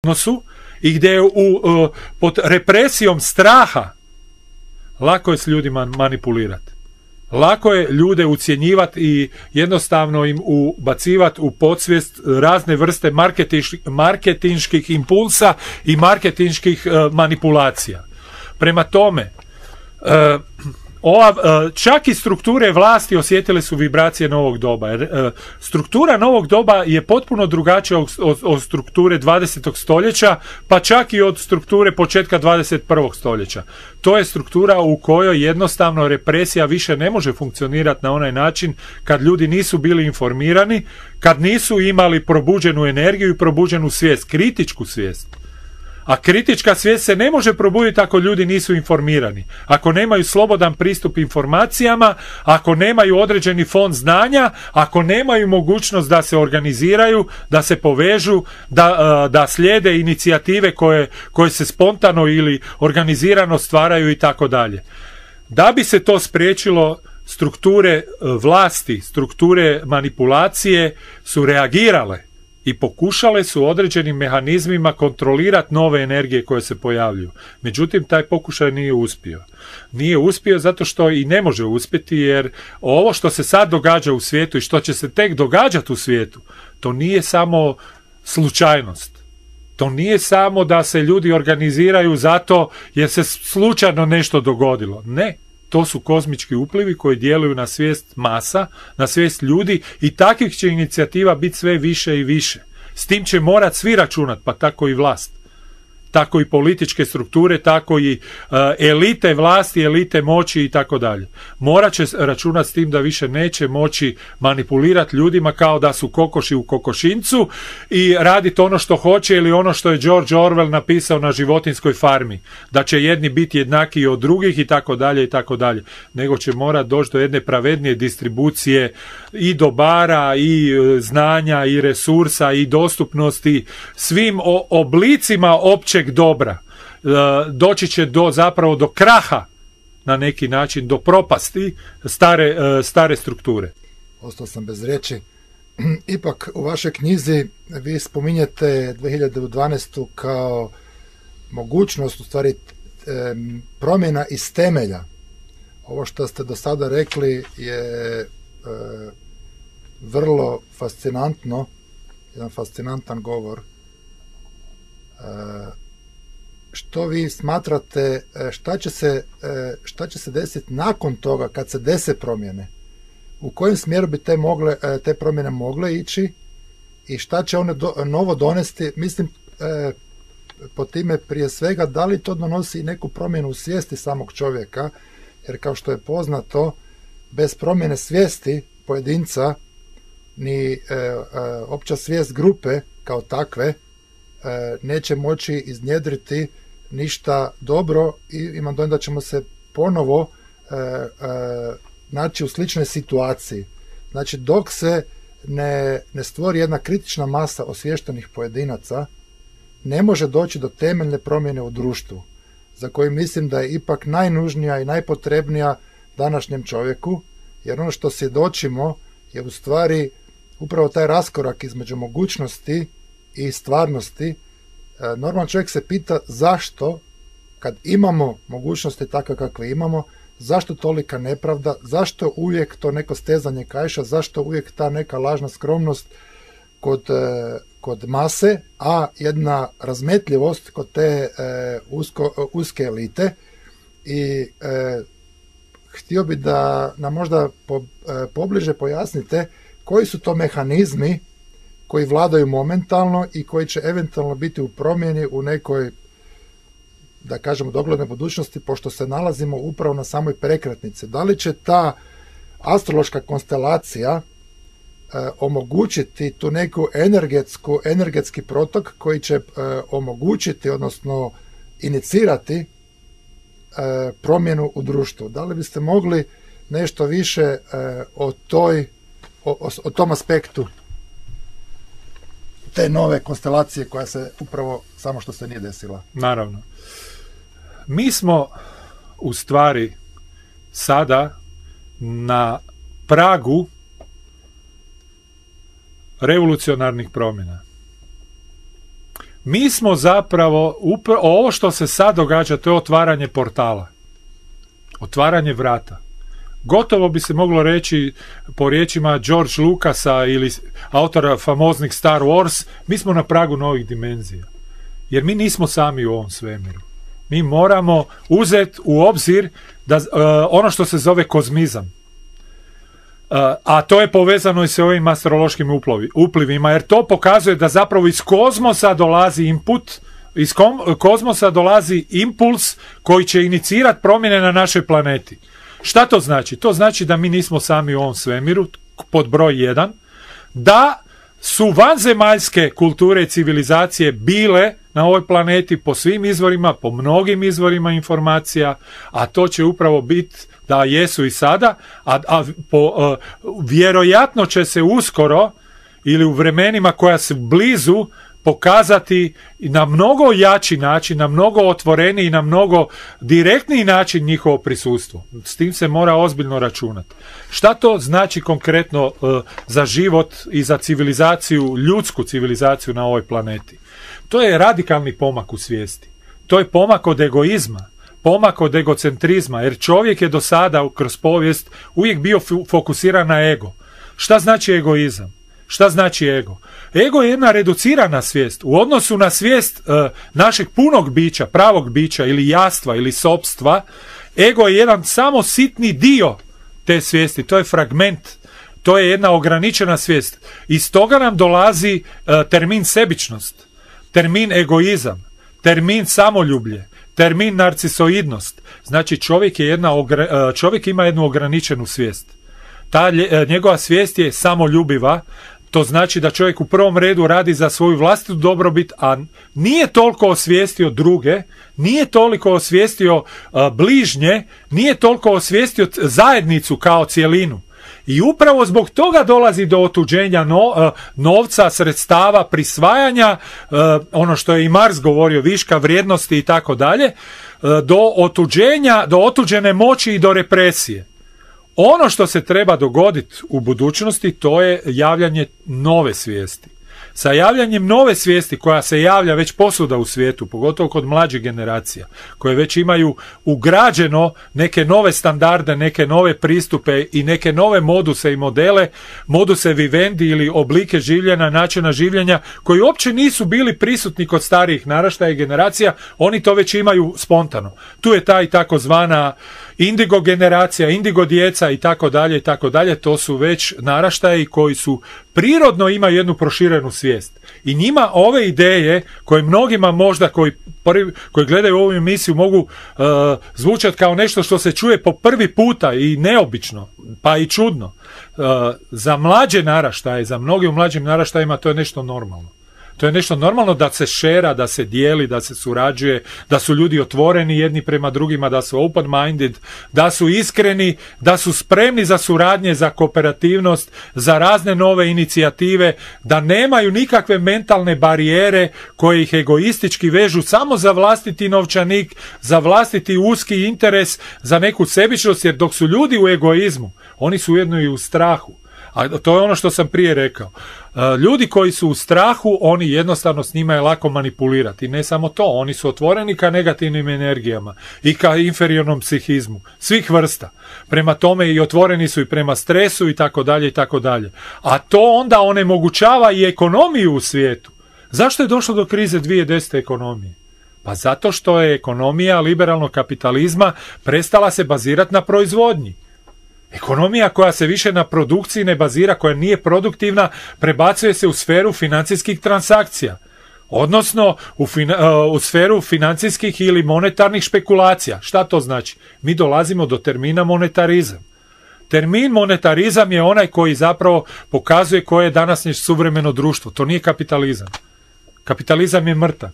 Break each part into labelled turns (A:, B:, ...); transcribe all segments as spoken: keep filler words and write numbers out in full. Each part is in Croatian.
A: odnosu i gdje je u, uh, pod represijom straha lako je s ljudima manipulirati. Lako je ljude ucjenjivati i jednostavno im ubacivati u podsvijest razne vrste marketinških, marketinških impulsa i marketinških uh, manipulacija. Prema tome, uh, ova, uh, čak i strukture vlasti osjetile su vibracije novog doba. Jer, uh, struktura novog doba je potpuno drugačija od, od, od strukture dvadesetog stoljeća, pa čak i od strukture početka dvadeset prvog stoljeća. To je struktura u kojoj jednostavno represija više ne može funkcionirati na onaj način kad ljudi nisu bili informirani, kad nisu imali probuđenu energiju i probuđenu svijest, kritičku svijest. A kritička svijest se ne može probuditi ako ljudi nisu informirani, ako nemaju slobodan pristup informacijama, ako nemaju određeni fond znanja, ako nemaju mogućnost da se organiziraju, da se povežu, da, da slijede inicijative koje, koje se spontano ili organizirano stvaraju i tako dalje. Da bi se to spriječilo, strukture vlasti, strukture manipulacije su reagirale i pokušale su određenim mehanizmima kontrolirati nove energije koje se pojavljuju. Međutim, taj pokušaj nije uspio. Nije uspio zato što i ne može uspjeti, jer ovo što se sad događa u svijetu i što će se tek događati u svijetu, to nije samo slučajnost. To nije samo da se ljudi organiziraju zato jer se slučajno nešto dogodilo. Ne. To su kozmički uplivi koji djeluju na svijest masa, na svijest ljudi i takvih će inicijativa biti sve više i više. S tim će morat svi računati, pa tako i vlast. Tako i političke strukture, tako i uh, elite vlasti, elite moći i tako dalje. Morat će računati s tim da više neće moći manipulirati ljudima kao da su kokoši u kokošincu i raditi ono što hoće ili ono što je George Orwell napisao na Životinjskoj farmi. Da će jedni biti jednaki od drugih i tako dalje i tako dalje. Nego će morat doći do jedne pravednije distribucije i dobara i uh, znanja i resursa i dostupnosti svim o, oblicima opće dobra. Doći će do, zapravo do kraha na neki način, do propasti stare, stare strukture.
B: Ostao sam bez riječi. Ipak u vašoj knjizi vi spominjete dvije hiljade dvanaestu kao mogućnost u stvari promjena iz temelja. Ovo što ste do sada rekli je vrlo fascinantno, jedan fascinantan govor. Što vi smatrate, šta će se, šta će se desiti nakon toga kad se dese promjene? U kojem smjeru bi te, mogle, te promjene mogle ići i šta će one do, novo donesti? Mislim, po time prije svega, da li to donosi neku promjenu u svijesti samog čovjeka, jer kao što je poznato, bez promjene svijesti pojedinca ni e, e, opća svijest grupe kao takve e, neće moći iznjedriti ništa dobro i imam dojam da ćemo se ponovo e, e, naći u sličnoj situaciji. Znači, dok se ne, ne stvori jedna kritična masa osviještenih pojedinaca, ne može doći do temeljne promjene u društvu, za koju mislim da je ipak najnužnija i najpotrebnija današnjem čovjeku, jer ono što svjedočimo je u stvari upravo taj raskorak između mogućnosti i stvarnosti. Normalan čovjek se pita zašto, kad imamo mogućnosti takve kakve imamo, zašto tolika nepravda, zašto uvijek to neko stezanje kaiša, zašto uvijek ta neka lažna skromnost kod, kod mase, a jedna razmetljivost kod te e, usko, uske elite. I e, htio bi da nam možda po, e, pobliže pojasnite koji su to mehanizmi koji vladaju momentalno i koji će eventualno biti u promjeni u nekoj, da kažemo, doglednoj budućnosti, pošto se nalazimo upravo na samoj prekretnici. Da li će ta astrološka konstelacija e, omogućiti tu neku energetsku, energetski protok koji će e, omogućiti, odnosno inicirati e, promjenu u društvu? Da li biste mogli nešto više e, o, toj, o, o, o tom aspektu te nove konstelacije koja se upravo samo što se nije desila?
A: Naravno. Mi smo u stvari sada na pragu revolucionarnih promjena. Mi smo zapravo, upr- ovo što se sad događa, to je otvaranje portala. Otvaranje vrata. Gotovo bi se moglo reći po riječima George Lucasa ili autora famoznih Star Wars, mi smo na pragu novih dimenzija. Jer mi nismo sami u ovom svemiru. Mi moramo uzeti u obzir da, uh, ono što se zove kozmizam. Uh, a to je povezano i sa ovim astrološkim uplovi, uplivima, jer to pokazuje da zapravo iz kozmosa dolazi input, iz kom, kozmosa dolazi impuls koji će inicirati promjene na našoj planeti. Šta to znači? To znači da mi nismo sami u ovom svemiru, pod broj jedan, da su vanzemaljske kulture i civilizacije bile na ovoj planeti po svim izvorima, po mnogim izvorima informacija, a to će upravo biti da jesu i sada, a, a po, uh, vjerojatno će se uskoro ili u vremenima koja su blizu pokazati na mnogo jači način, na mnogo otvoreniji i na mnogo direktniji način njihovo prisustvo. S tim se mora ozbiljno računati. Šta to znači konkretno uh, za život i za civilizaciju, ljudsku civilizaciju na ovoj planeti? To je radikalni pomak u svijesti. To je pomak od egoizma, pomak od egocentrizma, jer čovjek je do sada kroz povijest uvijek bio fokusiran na ego. Šta znači egoizam? Šta znači ego? Ego je jedna reducirana svijest. U odnosu na svijest e, našeg punog bića, pravog bića ili jastva ili sopstva, ego je jedan samo sitni dio te svijesti. To je fragment. To je jedna ograničena svijest. Iz toga nam dolazi e, termin sebičnost, termin egoizam, termin samoljublje, termin narcisoidnost. Znači čovjek, je jedna, čovjek ima jednu ograničenu svijest. Ta njegova svijest je samoljubiva, to znači da čovjek u prvom redu radi za svoju vlastitu dobrobit, a nije toliko osvijestio druge, nije toliko osvijestio bližnje, nije toliko osvijestio zajednicu kao cjelinu. I upravo zbog toga dolazi do otuđenja no, novca, sredstava, prisvajanja, ono što je i Marx govorio, viška vrijednosti i tako dalje, do otuđenja, do otuđene moći i do represije. Ono što se treba dogoditi u budućnosti, to je javljanje nove svijesti. Sa javljanjem nove svijesti koja se javlja već posuda u svijetu, pogotovo kod mlađih generacija, koje već imaju ugrađeno neke nove standarde, neke nove pristupe i neke nove moduse i modele, moduse vivendi ili oblike življenja, načina življenja, koji uopće nisu bili prisutni kod starijih naraštaja i generacija, oni to već imaju spontano. Tu je ta i takozvana indigo generacija, indigo djeca i tako dalje i tako dalje, to su već naraštaji koji su prirodno imaju jednu proširenu svijest. I njima ove ideje koje mnogima možda koji, prvi, koji gledaju ovu emisiju mogu uh, zvučati kao nešto što se čuje po prvi puta i neobično, pa i čudno. Uh, za mlađe naraštaje, za mnogi u mlađim naraštajima to je nešto normalno. To je nešto normalno da se šera, da se dijeli, da se surađuje, da su ljudi otvoreni jedni prema drugima, da su open-minded, da su iskreni, da su spremni za suradnje, za kooperativnost, za razne nove inicijative, da nemaju nikakve mentalne barijere koje ih egoistički vežu samo za vlastiti novčanik, za vlastiti uski interes, za neku sebičnost, jer dok su ljudi u egoizmu, oni su ujedno i u strahu. A to je ono što sam prije rekao. Ljudi koji su u strahu, oni jednostavno s njima je lako manipulirati. I ne samo to, oni su otvoreni ka negativnim energijama i ka inferiornom psihizmu. Svih vrsta. Prema tome i otvoreni su i prema stresu i tako dalje i tako dalje. A to onda onemogućava i ekonomiju u svijetu. Zašto je došlo do krize dvije tisuće desete ekonomije? Pa zato što je ekonomija liberalnog kapitalizma prestala se bazirati na proizvodnji. Ekonomija koja se više na produkciji ne bazira, koja nije produktivna, prebacuje se u sferu financijskih transakcija. Odnosno u, fina, u sferu financijskih ili monetarnih špekulacija. Šta to znači? Mi dolazimo do termina monetarizam. Termin monetarizam je onaj koji zapravo pokazuje koje je današnje suvremeno društvo. To nije kapitalizam. Kapitalizam je mrtav.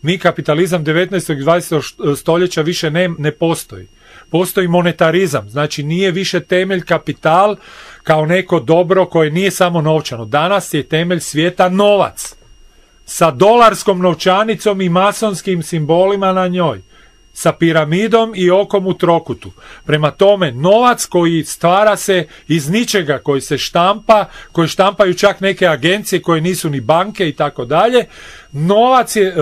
A: Mi kapitalizam devetnaestog i dvadesetog stoljeća više ne, ne postoji. Postoji monetarizam, znači nije više temelj kapital kao neko dobro koje nije samo novčano. Danas je temelj svijeta novac sa dolarskom novčanicom i masonskim simbolima na njoj. sa piramidom i okom u trokutu. Prema tome, novac koji stvara se iz ničega, koji se štampa, koji štampaju čak neke agencije koje nisu ni banke i tako dalje, novac je,